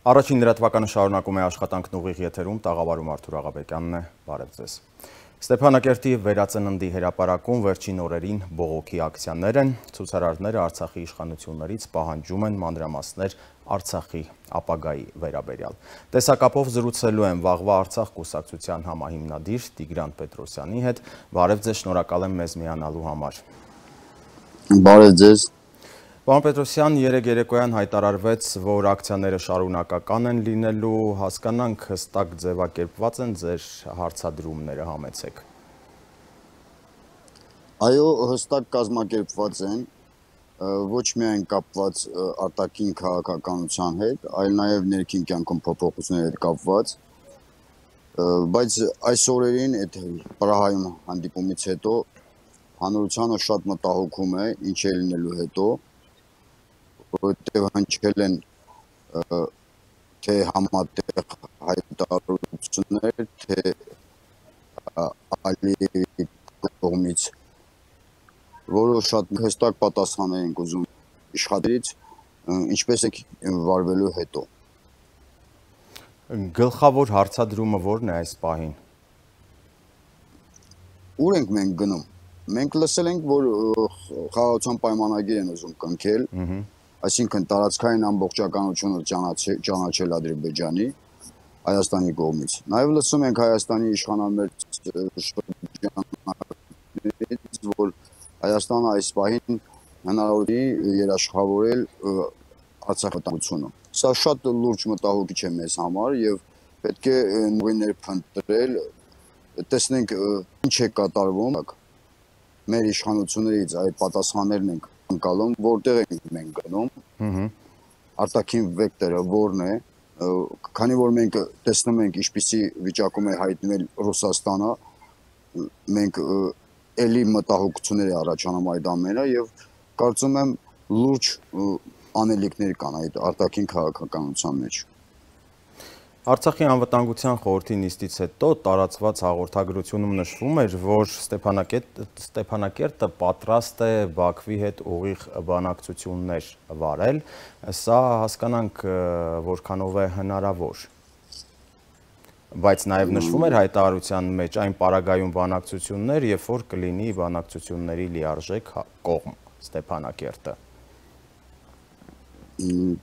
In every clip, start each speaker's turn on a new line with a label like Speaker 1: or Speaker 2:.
Speaker 1: Առաջին լրատվականը շարունակում է աշխատանքն ուղիղ եթերում, տաղավարում Արթուր Աղաբեկյանն է, բարև ձեզ։ Ստեփանակերտի վերածննդի հրապարակում վերջին օրերին բողոքի ակցիաներ են, ցուցարարները Արցախի իշխանություններից պահանջում են մանրամասներ Արցախի ապագայի վերաբերյալ։ Տեսակապով զրուցելու են վաղվա Արցախ կուսակցության համահիմնադիր Տիգրան Պետրոսյանի հետ, բարև ձեզ, շնորհակալ եմ մեզ միանալու համար։
Speaker 2: Բարև ձեզ։
Speaker 1: Պարոն Պետրոսյան, երեկ երեկոյան հայտարարվեց, որ ակցիաները շարունակական են լինելու, հասկանանք հստակ ձևակերպված են ձեր հարցադրումները, համեցեք։
Speaker 2: Այո, հստակ կազմակերպված են, ոչ միայն կապված արտաքին քաղաքականության հետ, այլ նաև ներքին կյանքում փոփոխությունների հետ կապված, բայց այս օրերին այդ Պրահայում հանդիպումից հետո հանրությանը շատ մտահոգում է, ինչ է լինելու հետո, որտեղ հնչել են թե համատեղ հայտարարություններ, թե Ալիևի կողմից, որը շատ հստակ պատասխաններ ենք ուզում իշխաններից, ինչպես է վարվելու հետո։
Speaker 1: Գլխավոր հարցադրումը ո՞րն է այս պահին։
Speaker 2: Ուր ենք մենք գնում։ Մենք լսել ենք, որ խաղաղության պայմանագիր են ուզում կնքել, այսինքն տարածքային ամբողջականությունը ճանաչել Ադրբեջանի, Հայաստանի կողմից։ Նաև լսում ենք Հայաստանի իշխանամերձ շրջաններից, որ Հայաստանը այս պահին հնարավոր է երաշխավորել Արցախի մտահոգությունը։ Սա շատ լուրջ մտահոգիչ է մեզ համար եւ պետք է նույններ փնտրել, տեսնենք ինչ է կատարվում մեր իշխանություններից, այդ պատասխաններն ենք անցալում, որտեղ ենք մենք գնում, արտաքին վեկտորը որն է, քանի որ մենք տեսնում ենք ինչպիսի վիճակում է հայտնվել Ռուսաստանը, մենք էլի մտահոգություններ է առաջանում այդ ամենը եւ կարծում եմ լուրջ անելիքներ կան այդ արտաքին քաղաքականության մեջ։
Speaker 1: Արցախի անվտանգության խորհրդի նիստից հետո տարածված հաղորդագրությունում նշվում էր, որ Ստեփանակերտը պատրաստ է Բաքվի հետ ուղիղ բանակցություններ վարել, սա հասկանանք որքանով է հնարավոր։ Բայց նաև նշվում էր հայտարարության մեջ այն պարագայում բանակցություններ, երբ որ կլինի բանակցությունների լիարժեք կողմ Ստեփանակերտը։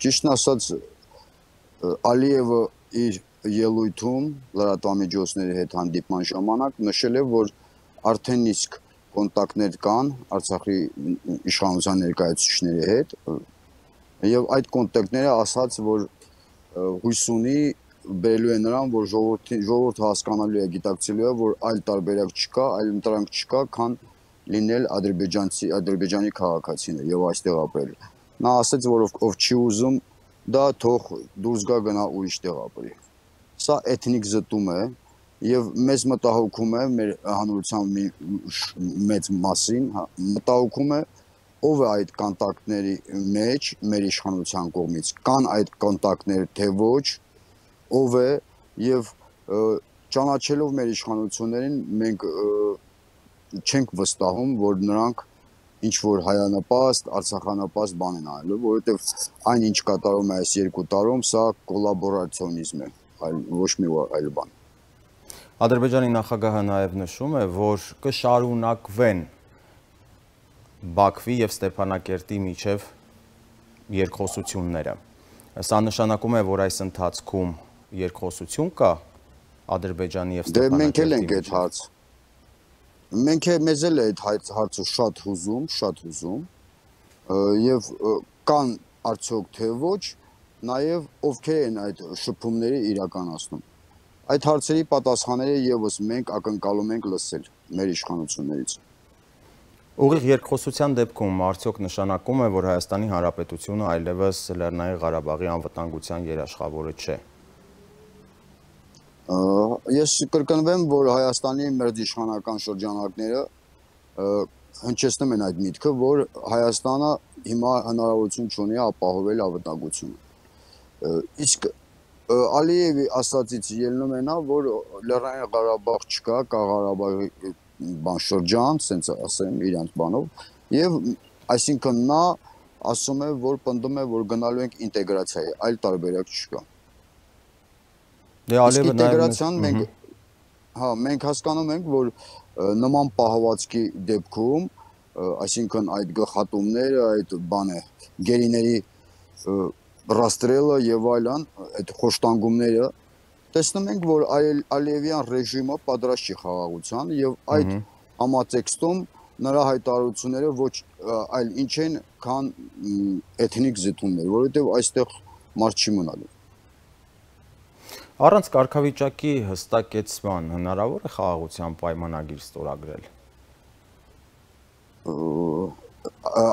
Speaker 2: Ճիշտն ասած, Ալիևը իր ելույթում լրատվամիջոցների հետ հանդիպման ժամանակ նշել է, որ արդեն իսկ կոնտակտներ կան Արցախի իշխանության ներկայացուցիչների հետ եւ այդ կոնտակտները ասաց, որ հույս ունի բերելու է նրան, որ ժողովուրդը հասկանալու է, գիտակցելու է, որ այլ տարբերակ չկա, այլ ընտրանք չկա, քան լինել Ադրբեջանի քաղաքացիներ եւ այստեղ ապրել։ Նա ասաց, որ ով չի ուզում դա թող դուրս գա գնա ուրիշ տեղ ապրի։ Սա էթնիկ զտում է եւ մեզ մտահոգում է մեր հանրության մեծ մասին, մտահոգում է ով է այդ կոնտակտների մեջ մեր իշխանության կողմից, կան այդ կոնտակտներ թե ոչ, ով է եւ ճանաչելով մեր իշխանություններին մենք չենք վստահում, որ նրանք ինչ որ հայանպաստ, արցախանպաստ բան են անելու, որովհետև այն ինչ կատարում է այս 2 տարում, սա կոլաբորացիոնիզմ է, այլ ոչ մի այլ բան։
Speaker 1: Ադրբեջանի նախագահը նաև նշում է, որ կշարունակվեն Բաքվի եւ Ստեփանակերտի միջև երկխոսությունները։ Սա նշանակում է, որ այս ընթացքում երկխոսություն կա Ադրբեջանի եւ Ստեփանակերտի
Speaker 2: միջև։ Մենք մեզ էլ է այդ հարցը շատ հուզում եւ կան արդյոք թե ոչ, նաեւ ովքեր են այդ շփումները իրականացնում։ Այդ հարցերի պատասխանները եւս մենք ակնկալում ենք լսել մեր իշխանություններից։
Speaker 1: Ուղիղ երկխոսության դեպքում արդյոք նշանակում է, որ Հայաստանի Հանրապետությունը այլևս Լեռնային Ղարաբաղի անվտանգության երաշխավորը չէ։
Speaker 2: Ես կրկնվեմ, որ Հայաստանի մերձիշխանական շրջանակները հնչեցնում են այդ միտքը, որ Հայաստանը հիմա հնարավորություն չունի ապահովել անվտանգությունը։ Իսկ Ալիևի ասածից ելնում է նա, որ Լեռնային Ղարաբաղ չկա, կա Ղարաբաղի շրջան, ասենց ասեմ իրանց բանով, եւ այսինքն նա ասում է, որ պնդում է, որ գնալու ենք ինտեգրացիայի, այլ տարբերակ չկա։
Speaker 1: Դե Ալիևը
Speaker 2: ինտեգրացիան մենք հասկանում ենք, որ նման պահվածքի դեպքում, այսինքն այդ գլխատումները, այդ գերիների ռաստրելը եւ այլն, այդ խոշտանգումները, տեսնում ենք, որ Ալիևյան ռեժիմը պատրաստ չի խաղաղության եւ այդ համատեքստում նրա հայտարարությունները ոչ այլ ինչ են, քան էթնիկ զտումներ, որովհետեւ այստեղ մարդ չի մնալու։
Speaker 1: Առանց կարգավիճակի հստակեցման հնարավոր է խաղաղության պայմանագիր ստորագրել։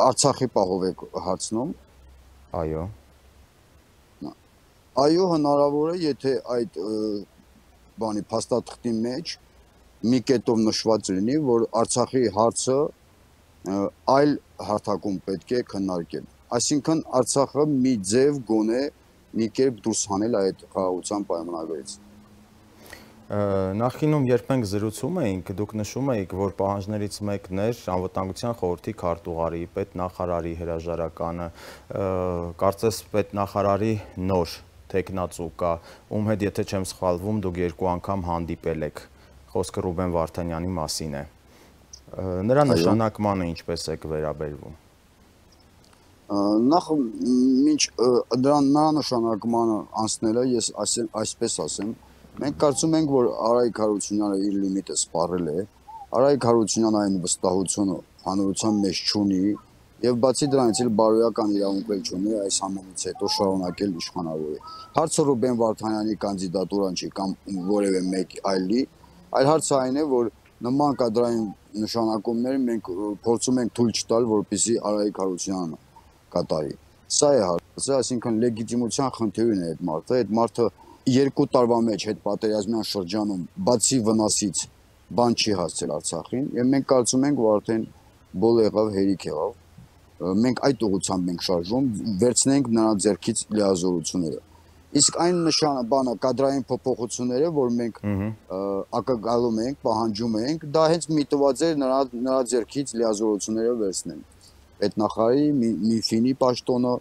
Speaker 2: Արցախի պահով եք հարցնում։
Speaker 1: Այո։
Speaker 2: Այո, հնարավոր է, եթե այդ փաստաթղթի մեջ մի կետով նշված լինի, որ Արցախի հարցը այլ հարթակում պետք է քննարկել։ Այսինքն Արցախը մի ձև գոնե մի կերպ դուրս հանել այդ խաղաղության պայմանագրից։
Speaker 1: Նախինում երբ մենք զրուցում էինք, դուք նշում էիք, որ պահանջներից մեկն էր Անվտանգության խորհրդի քարտուղարի, պետնախարարի հրաժարականը, կարծես պետնախարարի նոր թեկնածու կա, ում հետ, եթե չեմ սխալվում, դուք 2 անգամ հանդիպել եք, խոսքը Ռուբեն Վարդանյանի մասին է։ Նրա նշանակմանը ինչպես եք վերաբերվում։
Speaker 2: Նախ մինչ նրա նշանակմանը անցնելը ես այսպես ասեմ, մենք կարծում ենք, որ Արայիկ Հարությունյանը իր լիմիտը սպառել է, Արայիկ Հարությունյանը այն վստահությունը հանրության մեջ չունի եւ բացի դրանից էլ բարոյական իրավունք չունի այս ամենից հետո շարունակել իշխանավորել։ Հարցը Ռուբեն Վարդանյանի կանդիդատուրան չի կամ որևէ մեկ այլի, այլ հարցը այն է, որ նման կադրային նշանակումներ մենք փորձում ենք թույլ չտալ, որպեսզի Արայիկ Հարությունյանը կատարի։ Սա է հարցը, այսինքն լեգիտիմության խնդիրն է այդ մարդը 2 տարվա մեջ հետ պատերազմյան շրջանում բացի վնասից բան չի հասցել Արցախին եւ մենք կարծում ենք, որ արդեն բոլ եղավ, հերիք եղավ։ Մենք այդ ուղղությամբ ենք շարժվում, վերցնենք նրա ձեռքից լիազորությունները։ Իսկ այն նշանը կադրային փոփոխությունները, որ մենք ակնկալում ենք, պահանջում ենք, դա հենց միտված էր նրա ձեռքից լիազորությունները վերցնել։ Պետնախարարի, Միֆինի պաշտոնը,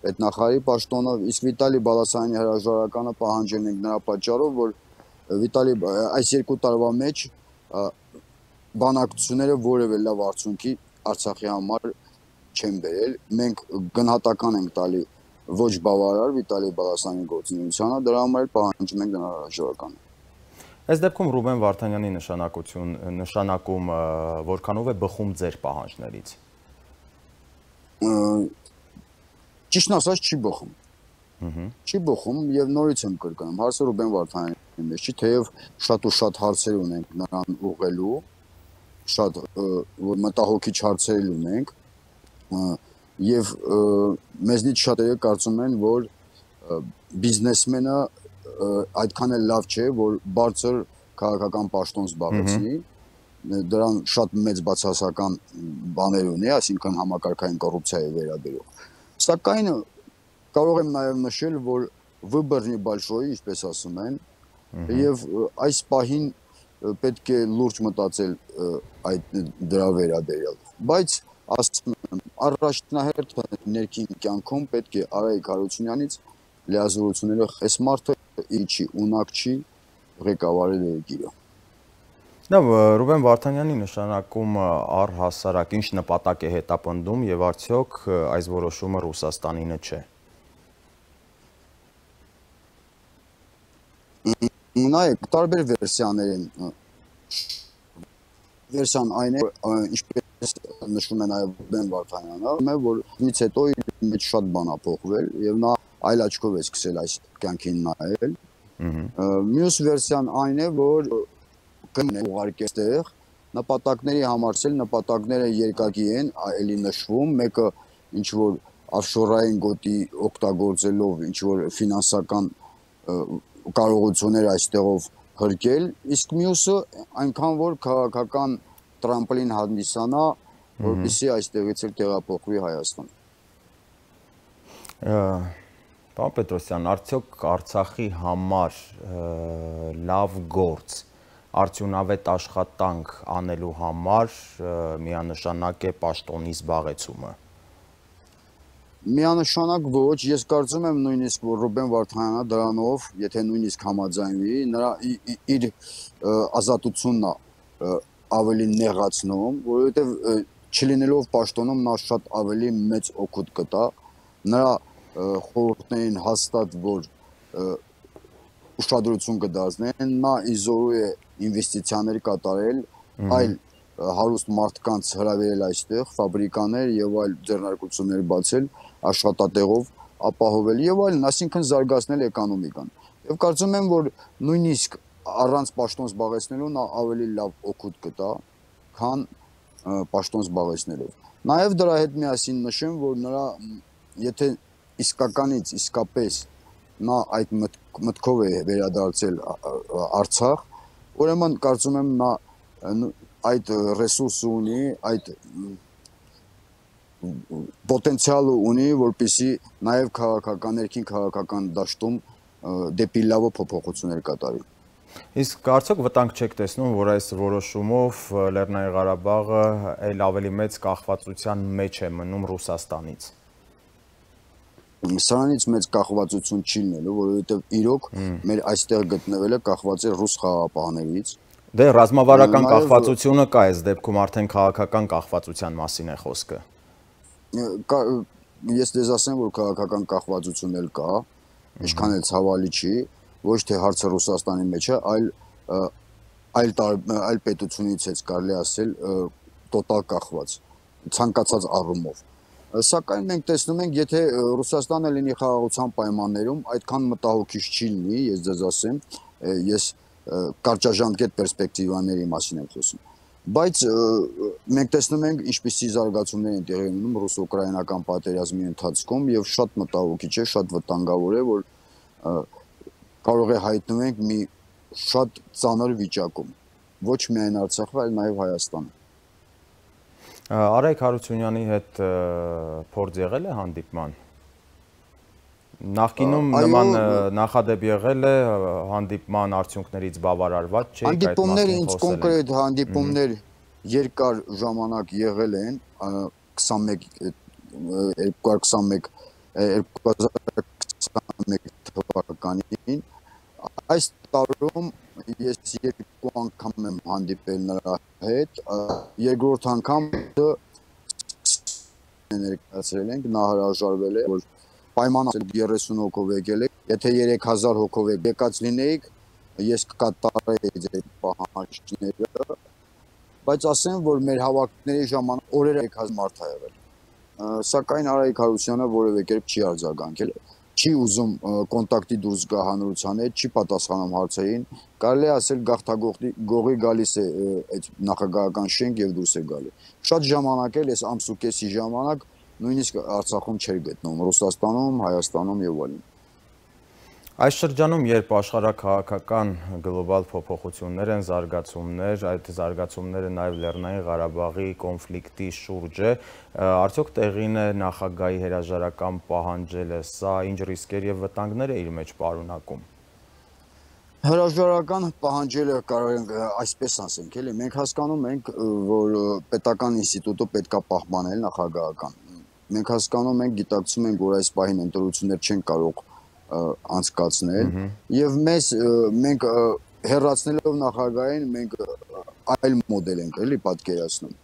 Speaker 2: պետնախարարի պաշտոնը, իսկ Վիտալի Բալասանյանի հրաժարականը պահանջել ենք նրա պատճառով, որ Վիտալի այս 2 տարվա մեջ բանակցությունները որևէ լավ արդյունքի Արցախի համար չեն բերել։ Մենք գնահատական ենք տալի ոչ բավարար Վիտալի Բալասանյանի գործունեությանը, դրա համար պահանջում ենք նրա հրաժարականը։
Speaker 1: Այս դեպքում Ռուբեն Վարդանյանի նշանակում որքանով է բխում ձեր պահանջներից։
Speaker 2: Ճիշտն ասած չի բխում։ Չի բխում եւ նորից եմ կրկնում, հարցը Ռուբեն Վարդանյանի մեջ չի, թեև շատ ու շատ հարցեր ունենք նրան ուղղելու, շատ մտահոգիչ հարցեր ունենք եւ մեզնից շատերը կարծում են, որ բիզնեսմենը այդքան էլ լավ չէ, որ բարձր քաղաքական պաշտոն զբաղեցնի, դրան շատ մեծ բացասական բաներ ունի, այսինքն համակարգային կոռուպցիայի վերաբերող։ Սակայն կարող եմ նաև նշել, որ վыборный большой, ինչպես ասում են, եւ այս պահին պետք է լուրջ մտածել դրա վերաբերյալ։ Բայց ասում եմ, առաջնահերթ ներքին կյանքում պետք է Արայիկ Հարությունյանից լիազորությունները այս մարդը ինչի ունակ չի ղեկավարել երկիրը։
Speaker 1: Լավ, Ռուբեն Վարդանյանի նշանակումը առհասարակ ինչ նպատակ է հետապնդում եւ արդյոք այս որոշումը Ռուսաստանինը չէ։
Speaker 2: Նայեք, տարբեր վերսիաներ են։ Վերսիան այն է, ինչպես նշում է նաև Ռուբեն Վարդանյանը, որ ինձ հետո իր մեջ շատ բան ա փոխվել եւ նա այլ աչքով է սկսել այս կյանքին նայել։ Մյուս վերսիան այն է, որ ուղարկել այստեղ նպատակների համար նպատակները երկակի են, էլի նշվում, մեկը ինչ որ offshore-ային գոտի օգտագործելով ինչ որ ֆինանսական կարողություններ այստեղով հրկել, իսկ մյուսը այնքան որ քաղաքական տրամպլին հանդիսանա, որպեսզի այստեղից էլ տեղափոխվի Հայաստան։
Speaker 1: Պարոն Պետրոսյան, արդյոք Արցախի համար լավ գործ, արդյունավետ աշխատանք անելու համար միանշանակ է պաշտոնի զբաղեցումը։
Speaker 2: Միանշանակ ոչ, ես կարծում եմ նույնիսկ որ Ռուբեն Վարդանյանը դրանով, եթե նույնիսկ համաձայնվի, նրա իր ազատությունն է ավելի նեղացնում, որովհետև չլինելով պաշտոնում նա շատ ավելի մեծ օգուտ կտա, նրա խորհուրդներին հաստատ որ ուշադրություն կդարձնեն, նա իզորու է ինվեստիցիաներ կատարել, այլ հարուստ մարդկանց հրավիրել այստեղ, ֆաբրիկաներ եւ այլ ձեռնարկություններ բացել, աշխատատեղով ապահովել եւ այլն, այսինքն զարգացնել էկոնոմիկան։ Եվ կարծում եմ, որ նույնիսկ առանց պաշտոն զբաղեցնելու նա ավելի լավ օգուտ կտա, քան պաշտոն զբաղեցնելով։ Նաեւ դրա հետ միասին նշեմ, որ նրա եթե իսկապես նա այդ մտքով է վերադարձել Արցախ, ուրեմն կարծում եմ նա այդ ռեսուրսը ունի, այդ պոտենցիալը ունի, որպեսզի նաև ներքին քաղաքական դաշտում դեպի լավը փոփոխություններ կատարի։
Speaker 1: Իսկ կարծեք վտանգ չեք տեսնում, որ այս որոշումով Լեռնային Ղարաբաղը այլ ավելի մեծ կախվածության մեջ է մնում Ռուսաստանից։
Speaker 2: Սրանից մեծ կախվածություն չի լինելու, որովհետև իրոք մեր այստեղ գտնվելը կախված է ռուս խաղաղապահներից։
Speaker 1: Դե ռազմավարական կախվածությունը կա, այս դեպքում արդեն քաղաքական կախվածության մասին է խոսքը։
Speaker 2: Ես դες ասեմ, որ քաղաքական կախվածություն էլ կա, ինչքան էլ ցավալի չի, ոչ թե հարցը Ռուսաստանի մեջ է, այլ պետությունից է կարելի ասել տոտալ կախված, ցանկացած առումով։ Սակայն մենք տեսնում ենք, եթե Ռուսաստանը լինի խաղաղության պայմաններում, այդքան մտահոգիչ չի լինի, ես ձեզ ասեմ, ես կարճաժամկետ պերսպեկտիվաների մասին եմ խոսում։ Բայց մենք տեսնում ենք, ինչպիսի զարգացումներ են տեղի ունենում ռուս-ուկրաինական պատերազմի ընթացքում եւ շատ մտահոգիչ է, շատ վտանգավոր է, որ կարող է հայտնվենք մի շատ ծանր վիճակում, ոչ միայն Արցախը, այլ նաեւ Հայաստանը։
Speaker 1: Արայք Հարությունյանի հետ փորձ եղել է հանդիպման։ Նախկինում նման նախադեպ եղել է, հանդիպման արդյունքներից բավարարված չէ։
Speaker 2: Հանդիպումներ ինձ կոնկրետ հանդիպումներ երկար ժամանակ եղել են 2021 թվականին։ Այս տարում ես երկու անգամ եմ հանդիպել նրա հետ, երկրորդ անգամ ներկայացրել ենք, նա հրաժարվել է, որ պայման 30 հոգով եկել եք, եթե 3000 հոգով եկած լինեիք, ես կկատարեի ձեր պահանջները, բայց ասեմ, որ մեր հավաքների ժամանակ օրերը 3000 մարդ ա եղել, սակայն Արայք Հարությունյանը որևէ կերպ չի արձագանքել, չի ուզում կոնտակտի դուրս գա հանրության հետ, չի պատասխանում հարցերին, կարելի ասել գողի գալիս է այդ նախագահական շենք եւ դուրս է գալի։ Շատ ժամանակ էլ այս ամսուկեսի ժամանակ նույնիսկ Արցախում չէր գտնում, Ռուսաստանում, Հայաստանում եւ այլն։
Speaker 1: Այս շրջանում, երբ աշխարհաքաղաքական գլոբալ փոփոխություններ են, զարգացումներ, այդ զարգացումները նաև Լեռնային Ղարաբաղի կոնֆլիկտի շուրջ է, արդյոք տեղին է նախագահի հրաժարական պահանջելը, սա ինչ ռիսկեր եւ վտանգներ է իր մեջ պարունակում։
Speaker 2: Հրաժարական պահանջելը կարող ենք այսպես ասենք, էլի, մենք հասկանում ենք, որ պետական ինստիտուտը պետք է պահպանել նախագահական։ Մենք հասկանում ենք, գիտակցում ենք, որ այս պահին ընտրություններ չեն կարող անցկացնել եւ մենք հեռացնելով նախագահին մենք այլ մոդել ենք էլի պատկերացնում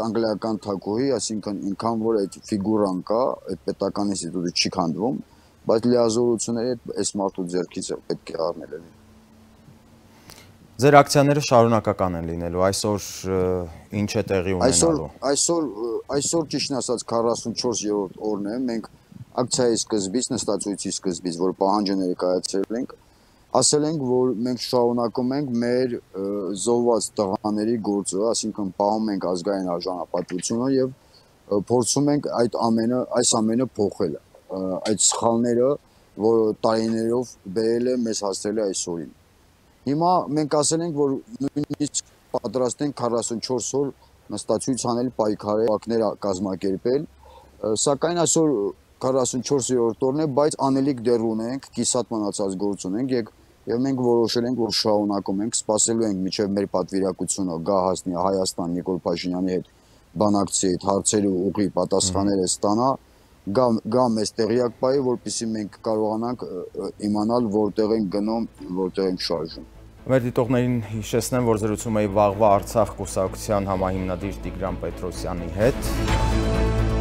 Speaker 2: անգլիական թագուհի, այսինքն ինքան որ այդ ֆիգուրան կա, այդ պետական ինստիտուտը չի քանդվում, բայց լիազորությունները այս մարդու ձեռքից պետք է առնել էլի։
Speaker 1: Ձեր ակցիաները շարունակական են լինելու, այսօր ինչ է տեղի ունենալու։
Speaker 2: Այսօր ճիշտն ասած 44-րդ օրն է, մենք ակցիայի սկզբից, նստածույցի սկզբից, որ պահանջը ներկայացրել ենք, ասել ենք, որ մենք շարունակում ենք մեր զոհված տղաների գործը, այսինքն պահում ենք ազգային արժանապատվությունը եւ փորձում ենք այս ամենը փոխել, այդ սխալները, որ տարիներով բերել է մեզ հասցրել է այսօրին։ Հիմա մենք ասել ենք, որ նույնիսկ պատրաստ ենք 44 օր նստածույց անել, պայքարել, կազմակերպել, սակայն այսօր 44-րդ օրն է, բայց անելիք դեռ ունենք, կիսատ մնացած գործ ունենք եւ մենք որոշել ենք, որ շարունակում ենք, սպասելու ենք մինչեւ մեր պատվիրակությունը գա հասնի Հայաստան Նիկոլ Փաշինյանի հետ բանակցի այդ հարցերի ուղի պատասխանները ստանա գա մեզ տեղյակ պայի, որպեսզի մենք կարողանանք իմանալ որտեղ են գնում, որտեղ են շարժում։
Speaker 1: Մեր դիտողներին հիշեցնեմ, որ զրուցում էի Վաղվա Արցախ կուսակցության համահիմնադիր Տիգրան Պետրոսյանի հետ։